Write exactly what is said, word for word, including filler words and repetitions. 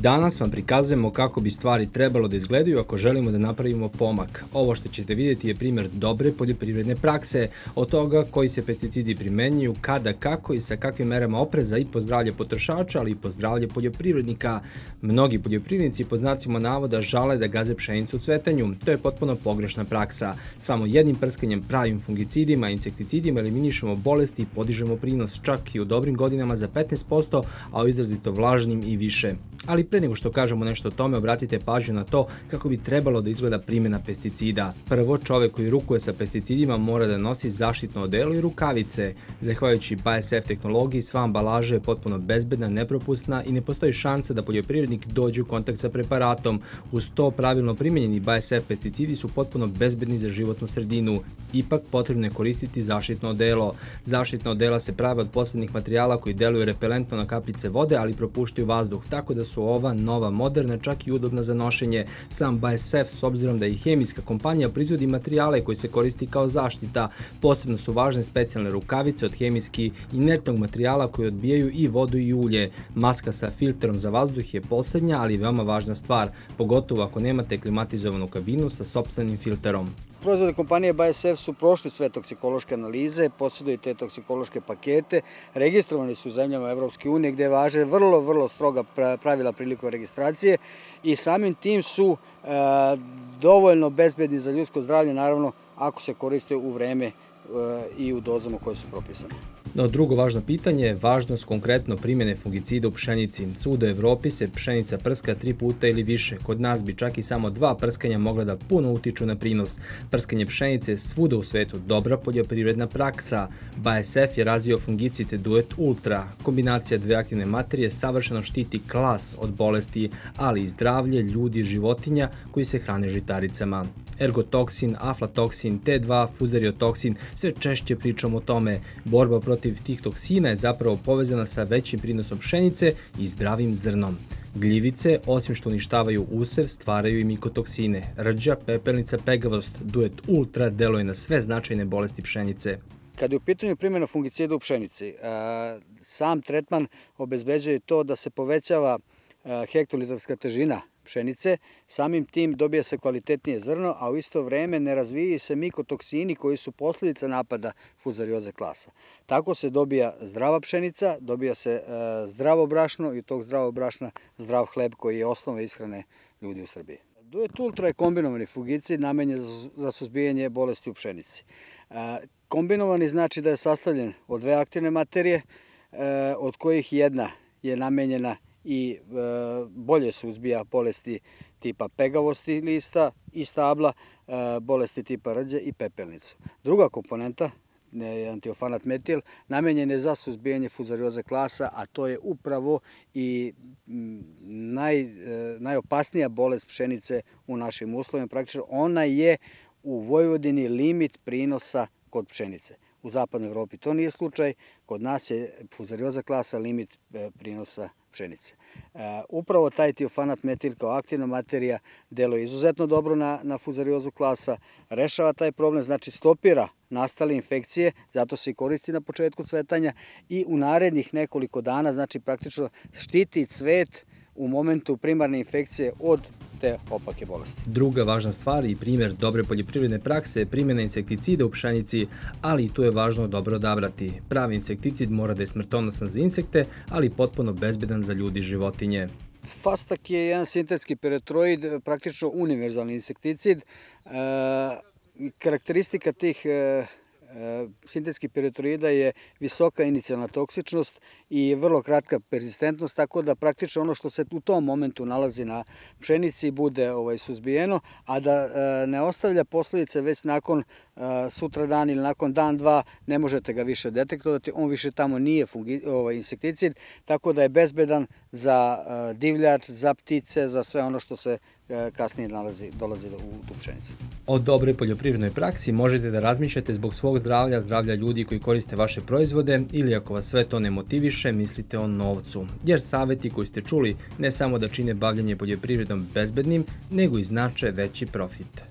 Danas vam prikazujemo kako bi stvari trebalo da izgledaju ako želimo da napravimo pomak. Ovo što ćete vidjeti je primjer dobre poljoprivredne prakse, od toga koji se pesticidi primenjuju, kada, kako i sa kakvim merama opreza i po zdravlje potrošača, ali i po zdravlje poljoprivrednika. Mnogi poljoprivrednici pod znacima navoda žale da gaze pšenicu u cvetanju. To je potpuno pogrešna praksa. Samo jednim prskanjem pravim fungicidima i insekticidima eliminišemo bolesti i podižemo prinos čak i u dobrim godinama za petnaest posto, a u izrazito vlažnim i više. Ali pre nego što kažemo nešto o tome, obratite pažnju na to kako bi trebalo da izgleda primjena pesticida. Prvo, čovek koji rukuje sa pesticidima mora da nosi zaštitno odelo i rukavice. Zahvaljujući B A S F tehnologiji, sva ambalaža je potpuno bezbedna, nepropusna i ne postoji šansa da poljoprivrednik dođe u kontakt sa preparatom. Uz to, pravilno primjenjeni B A S F pesticidi su potpuno bezbedni za životnu sredinu. Ipak, potrebno je koristiti zaštitno odelo. Zaštitna odela se prave od posebnih materijala koji deluju repelentno na kapljice vode, ali propuštaju vazduh, tako da su ova nova, moderna, čak i udobna za nošenje. Sam B A S F, s obzirom da i hemijska kompanija proizvodi materijale koji se koristi kao zaštita, posebno su važne specijalne rukavice od hemijski inertnog materijala koji odbijaju i vodu i ulje. Maska sa filterom za vazduh je poslednja, ali veoma važna stvar, pogotovo ako nemate klimatizovanu kabinu sa sopstvenim filterom. Proizvodne kompanije B A S F su prošli sve toksikološke analize, posjeduju te toksikološke pakete, registrovani su u zemljama Evropske unije gde važe vrlo, vrlo stroga pravila prilikom registracije i samim tim su e, dovoljno bezbedni za ljudsko zdravlje, naravno ako se koriste u vreme e, i u dozama koje su propisane. No, drugo važno pitanje je važnost konkretno primjene fungicida u pšenici. Svuda u Evropi se pšenica prska tri puta ili više. Kod nas bi čak i samo dva prskanja mogla da puno utiču na prinos. Prskanje pšenice je svuda u svetu dobra poljoprivredna praksa. B A S F je razvio fungicid Duet Ultra. Kombinacija dve aktivne materije savršeno štiti klas od bolesti, ali i zdravlje ljudi i životinja koji se hrane žitaricama. Ergotoksin, aflatoksin, T dva, fuzariotoksin, sve češće pričamo o tome. Borba protiv tih toksina je zapravo povezana sa većim prinosom pšenice i zdravim zrnom. Gljivice, osim što uništavaju usev, stvaraju i mikotoksine. Rđa, pepelnica, pegavost, Duet Ultra deluje na sve značajne bolesti pšenice. Kada je u pitanju primjena fungicida u pšenici, sam tretman obezbeđuje to da se povećava hektolitarska težina pšenice, samim tim dobija se kvalitetnije zrno, a u isto vreme ne razvijaju se mikotoksini koji su posljedica napada fuzarioze klasa. Tako se dobija zdrava pšenica, dobija se zdravo brašno i od tog zdravog brašna zdrav hleb koji je osnova ishrane ljudi u Srbiji. Duet Ultra je kombinovani fungicid namenjen za suzbijanje bolesti u pšenici. Kombinovani znači da je sastavljen od dve aktivne materije, od kojih jedna je namenjena i e, bolje suzbija bolesti tipa pegavosti lista i stabla, e, bolesti tipa rđe i pepelnicu. Druga komponenta, antiofanat metil, namenjen je za suzbijanje fuzarioze klasa, a to je upravo i naj, e, najopasnija bolest pšenice u našim uslovima. Praktično ona je u Vojvodini limit prinosa kod pšenice. U zapadnoj Evropi to nije slučaj, kod nas je fuzarioza klasa limit prinosa pšenice. E, upravo taj tiofanat metil kao aktivna materija deluje izuzetno dobro na, na fuzariozu klasa, rešava taj problem, znači stopira nastale infekcije, zato se i koristi na početku cvetanja i u narednih nekoliko dana, znači praktično štiti cvet u momentu primarne infekcije od te opake bolesti. Druga važna stvar i primjer dobre poljoprivredne prakse je primjena insekticida u pšenici, ali i tu je važno dobro odabrati. Pravi insekticid mora da je smrtonosan za insekte, ali potpuno bezbedan za ljudi i životinje. Fastak je jedan sintetski piretroid, praktično univerzalni insekticid. E, karakteristika tih e, sintetskih piretroida je visoka inicijalna toksičnost i vrlo kratka persistentnost, tako da praktično ono što se u tom momentu nalazi na pšenici bude ovaj, suzbijeno, a da e, ne ostavlja posljedice već nakon e, sutra dan ili nakon dan, dva, ne možete ga više detektovati, on više tamo nije fungi, ovaj, insekticid, tako da je bezbedan za e, divljač, za ptice, za sve ono što se e, kasnije nalazi, dolazi u tu pšenicu. O dobroj poljoprivrednoj praksi možete da razmišljate zbog svog zdravlja, zdravlja ljudi koji koriste vaše proizvode ili ako vas sve to ne motiviše, mislite o novcu. Jer saveti koji ste čuli ne samo da čine bavljanje poljoprivredom bezbednim, nego i znače veći profit.